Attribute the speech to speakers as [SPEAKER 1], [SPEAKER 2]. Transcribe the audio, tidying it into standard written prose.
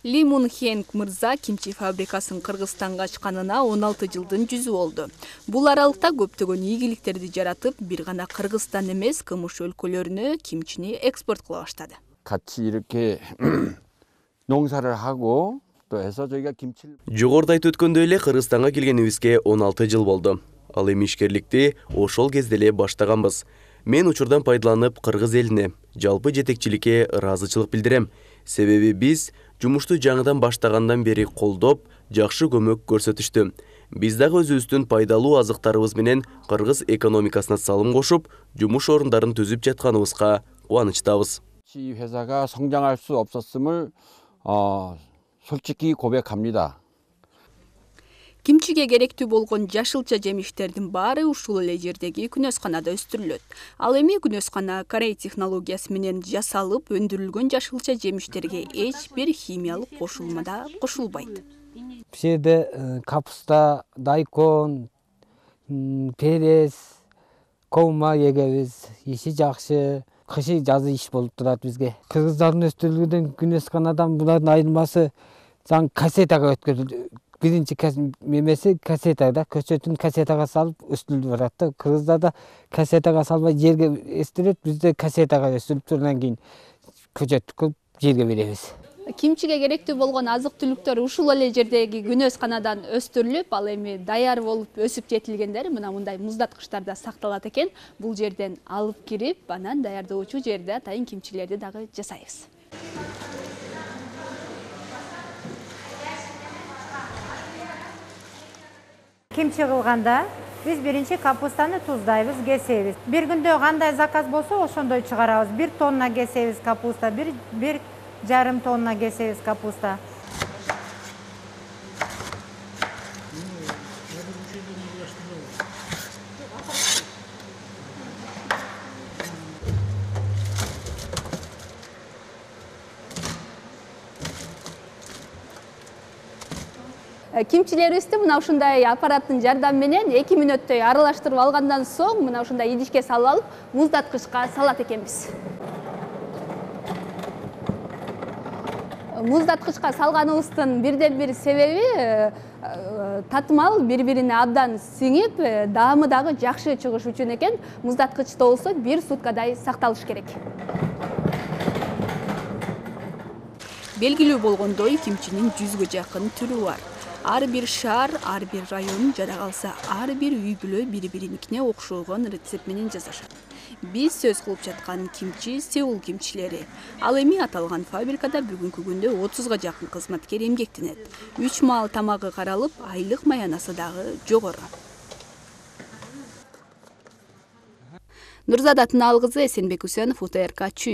[SPEAKER 1] Ли Мун Хенг мырза кимчи фабрикасын Кыргызстанга ачканына 16 жылдын жүзү болду. Бул аралыкта көптөгөн ийгиликтерди жаратып, бир гана Кыргызстан эмес, кымыш өлкөлөрүнө кимчини экспорт кыла баштады.
[SPEAKER 2] 같이 이렇게 농사를 하고 또 해서 저희가 김치를
[SPEAKER 3] Жогоруда айтып өткөндөй эле Кыргызстанга келгенибизге 16 жыл болду. Ал эми ишкерликти ошол кезде эле баштаганбыз. Мен учурдан пайдаланып кыргыз элине, жалпы жетекчиликке ыраазычылык билдирем. Себеби биз жумушту жаңыдан баштагандан бери колдоп, жакшы көмөк көрсөтүштү. Биз дагы өзүбүздүн пайдалуу азыктарыбыз менен кыргыз экономикасына салым кошуп, жумуш орундарын түзүп жатканыбызга кубанычтабыз.
[SPEAKER 2] 이 회사가 성장할 수 없었음을 솔직히 고백합니다.
[SPEAKER 1] Кимчиге керектүү болгон жашылча жемиштердин баары ушул эле жердеги күнөсканада өстүрүлөт. Ал эми күнөскана Корей технологиясы менен жасалып, өндүрүлгөн жашылча жемиштерге эч бир химиялык кошулма да кошулбайт.
[SPEAKER 4] Бул жерде капуста, дайкон, перес, коума эгебиз, иши жакшы. Кышы жазы иш болуп турат бизге. Кыргыздардын өстүрүлгөн күнөсканадан булардын айырмасы кассетага өткөрүлдү. Биринчи мемеси кассетада, көчөтүн кассетага салып өстүрүлүп барат да. Кыргыздарда кассетага салбай жерге өстүрөт, бизде кассетага өстүрүп тургандан кийин көчөттү жерге беребиз.
[SPEAKER 1] Кимчиге керектүү болгон азык-түлүктөр ушул эле жердеги күнөсканадан өстүрүлүп, ал эми даяр болуп өсүп жетилгендер мындай муздаткычтарда сакталат экен. Бул жерден алып кирип, анан даярдоочу жерде атайын кимчилерди дагы жасайбыз.
[SPEAKER 5] Кимчи кылганда биз биринчи капустаны туздайбыз, кесебиз. Бир күндө кандай заказ болсо ошондой чыгарабыз. 1 тонна кесебиз капуста, 1,5 тонна кесебиз капуста.
[SPEAKER 1] Кимчилерибизди мына ушундай аппараттын жардамы менен 2 мүнөттөй аралаштырып алгандан соң мына ушундай идишке салып алып, муздаткычка салат экенбиз. Муздаткычка салганыбыздын бирден бир себеби татымал бири-бирине абдан сиңип, даамы дагы жакшы чыгыш үчүн экен. Муздаткычта болсо 1 суткадай сакталыш керек. Белгилүү болгондой, кимчинин 100гө жакын түрү бар. Ар бир шаар, ар бир район, жада калса ар бир үй-бүлө бири-бириникине окшогон рецепт менен жасашат. Биз сөз кылып жаткан кимчи Сеул кимчилери. Ал эми аталган фабрикада бүгүнкү күндө 30га жакын кызматкер эмгектенет. 3 маал тамагы каралып, айлык маянасы дагы жогору. Нурзада Тыналгызы, Эсенбек Үсөнов, УТРК Чүй.